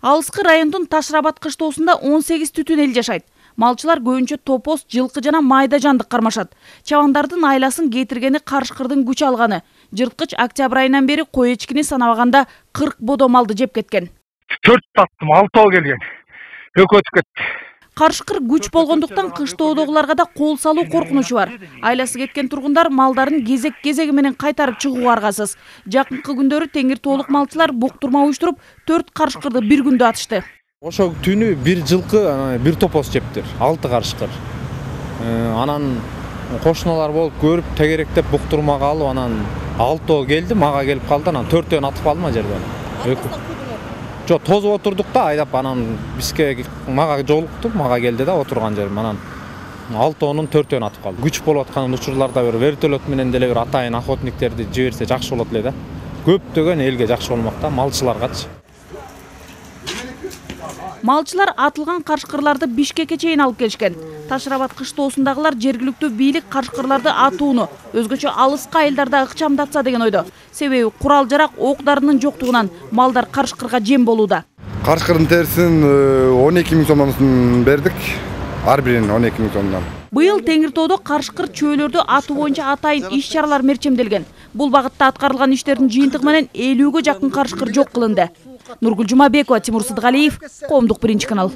Алыскы райондун Ташрабат кыштоосунда 18 түтүн эл жашайт. Малчылар көбүнчө топоз, жылкы жана майда жандык кармашат. Чабандардын айласын кетиргени карышкырдын күч алганы. Жырткыч октябрь айынан бери кой эчкини санабаганда 40 бодо малды жеп кеткен. 4 таттым, 6 келген. Экөө өтүп кетти. Карышкыр күч болгондуктан кыштоодогуларга да кол салуу коркунучу бар. Айласы кеткен тургундар малдарын кезек-кезеги менен кайтарып чыгууга аргасыз. Жакынкы күндөрү Теңир тоолук малчылар буктурма уюштуруп 4 карышкырды bir күндө атышты. Ошо түнү bir жылкы, bir топоз жептир, 6 карышкыр. Анан кошуналар болуп көрүп тегеректеп буктурмага алып, анан 6 келди, мага келип калды, анан 4-төн атып калдым жерден. Жок, тозуп отурдук да, айдап анан бизге мага жолукту, мага келди да отурган жерим. Анан 6-нун 4-төн атып калды. Күч болуп аткан учурларда бир вертолет менен деле бир атайын охотниктерди жиберсе жакшы болот эле да. Көптөгөн элге жакшы болмок да, малчыларгачы. Малчылар атылган карышкырларды Бишкекке чейин алып келишкен. Ташрабат кыштоосундагылар жергиликтүү бийлик карышкырларды атууну, өзгөчө алыска айылдарда ыкчамдатса деген ойдо. Себеби курал-жарак, ок-дарынын жоктугунан малдар карышкырга жем болууда. Карышкырдын терисин 12 000 сомдон бердик. Ар бирин 12 000 сомдон. Быйыл Теңир тоодо карышкыр чөөлөрдү атуу боюнча атайын иш-чаралар мерчемделген. Бул багытта аткарылган иштердин жыйынтыгы менен 50ге жакын карышкыр жок кылынды. Нургүл Жумабекова, Тимур Сыдыгалиев, Коомдук 1 канал.